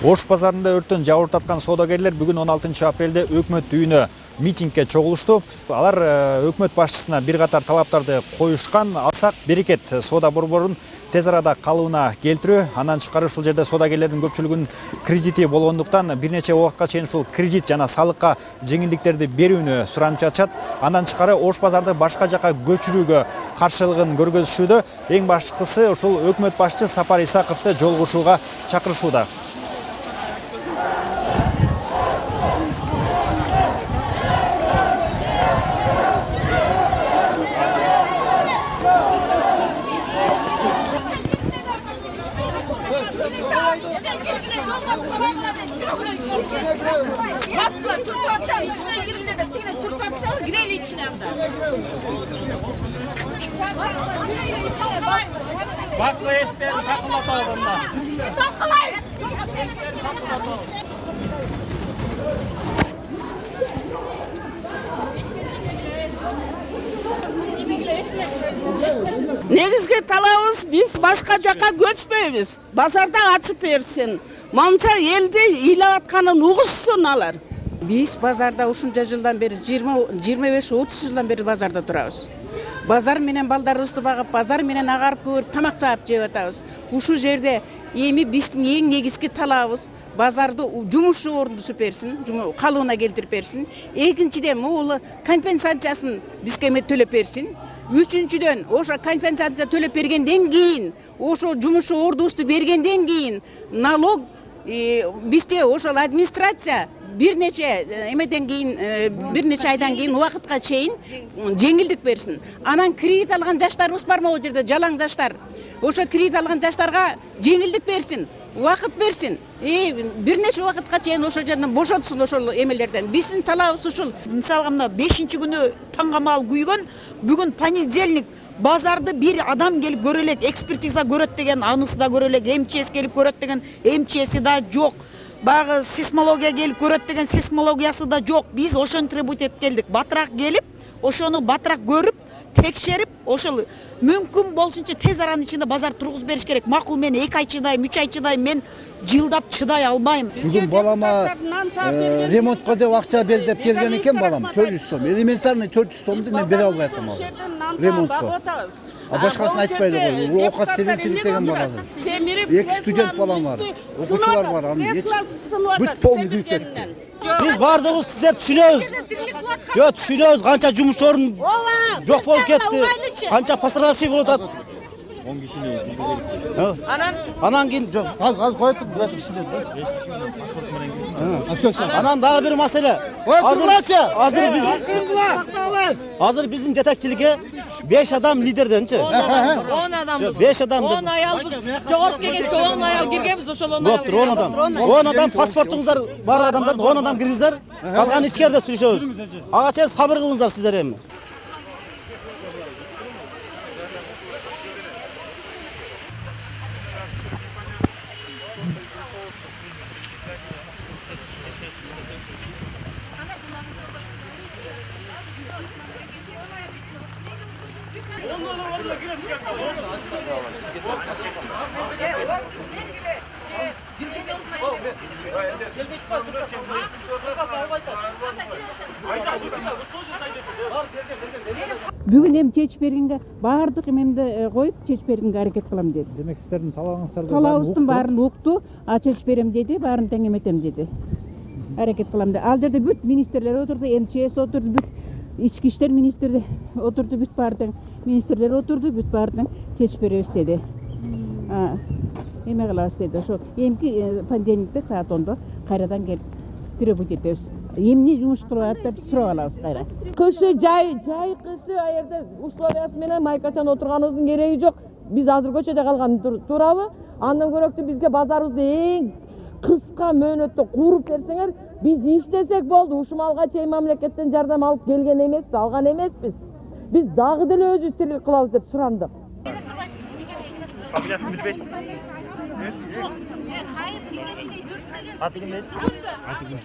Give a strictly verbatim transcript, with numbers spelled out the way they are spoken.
Ош базарында өрттөн жабыр таткан соодагерлер бүгүн он алтынчы апрелде өкмөт үйүнө митингге чогулушту. Алар өкмөт башчысына бир катар талаптарды коюшкан. Алсак берекет соода борборун тез арада калыбына келтирүү, андан тышкары ушул жерде соодагерлердин көпчүлүгүнүн кредити болгондуктан бир нече убакытка чейин ушул кредит жана салыкка жеңилдиктерди берүүнү суранып жатышат. Андан тышкары Ош базарды башка жака көчүрүүгө каршылыгын көргөзүшүүдө. Эң башкысы ушул өкмөт башчы Сапар Исаковду жолугушууга чакырышууда. Baskılar, Türk padişahı içine girin dedim. Yine Türk padişahı gireyle içine hem de. Baskıla işte takıla sağlamda. Takılayın! Негизги талабыбыз биз башка жака көчпөйбүз. Базарда ачып берсин. Монча элди ыйлап атканын угушсун алар. Биз базарда ушунча жылдан бери жыйырма беш отуз жылдан бери базарда турабыз. Базар менен балдарыбызды багып, базар менен агарып көрүп, тамак жаап жеп атабыз. Ушул жерде эми биздин эң негизги талабыбыз базарды жумуш орнутуп берсин, калыбына келтирип берсин. Экинчиден могул компенсациясын бизге төлөп берсин. Үчүнчүдөн ошо компенсация төлөп бергенден кийин, ошо жумуш ордубузду бергенден кийин налог бизде ошол администрация бир нече эмеден кийин бир нече айдан кийин убакытка чейин жеңилдик берсин. Анан кредит алган жаштарыбыз бар могу жерде, жалаң жаштар. Ошо кредит алган жаштарга жеңилдик берсин, убакыт берсин. И бир нече убакытка чейин ошо жерден бошотсун ошол эмелерден. Биздин талабыбыз ушул. Мисалга мына бешинчи күнү таңгамал күйгөн, бүгүн понедельник базарды бир адам келип көрө элек, экспертиза көрөт деген, анысы да көрө элек, МЧС келип көрөт деген, МЧСи да жок. Багы сейсмология келип көрөт деген, сейсмологиясы да жок. Биз ошентип этип келдик. Батыраак келип, ошону батыраак көрүп, текшерип, ошол мүмкүн болушунча тез аранын ичинде базар тургузуп бериш керек. Макул мен эки ай чыдайм, үч ай чыдайм, мен жылдап чыдай албайм. Бүгүн балама ремонтко деп акча бер деп келген экен балам, төрт жүз сом. Элементарный төрт жүз сомду мен бере албай атам ал. Ремонтко. А башкасын айтпайды го. Оокат тиричилик деген бар азыр. Эки студент балам бар, окуучулар бар, анын эч бүт полный күйүп кетти. Биз бардыгыбыз сиздер түшүнөбүз. Жок, түшүнөбүз канча жумуш орун жок болуп кетти. Канча пострадавший болуп атат. он кишини киргизелик. Анан анан кийин жок, Az az коюп беш кишини. Анан дагы бир маселе. Азыр азыр биз азыр биздин жетекчиликке беш адам лидерденчи. он адамбыз. беш адам. он аял биз жогорку кеңешке он аял киргенбиз, ошол он аял. он адам. он адам паспортуңуздар бар адамдар он адам киргиздер. Калган ичкерде сүйлөшөбүз. Ага чейин сабыр кылыңыздар сиздер эми. Бүгүн эми чечип бергенге баардык эмемди коюп чечип бергенге аракет кылам деди. Демек сиздердин талабыңыздарды талабыбыздын баарын укту, а чечип берем деди, баарын тең эметем деди. Аракет кылам деди. Ал жерде бүт министрлер отурду, МЧС отурду, бүт ички иштер министри отурду, бүт баары тең министрлер отурду, бүт баары тең чечип беребиз деди. Эме кылабыз деди. Ошо эмки понедельникте саат ондо кайрадан келип требовать этебиз. Эмне жумуш кылып атат деп сурап алабыз кайра. Кышы жай, жай кышы а жерде условиясы менен майкачан отурганыбыздын кереги жок. Биз азыр көчөдө калган турабы? Андан көрөктүү бизге базарыбызды эң кыска мөөнөттө куруп берсеңер, биз иштесек болду. Ушумалга чейин мамлекеттен жардам алып келген эмеспиз, алган эмеспиз. Биз дагы деле өзүбүз тирилик кылабыз деп сурандык. Аты ким дейсиз? Аты ким?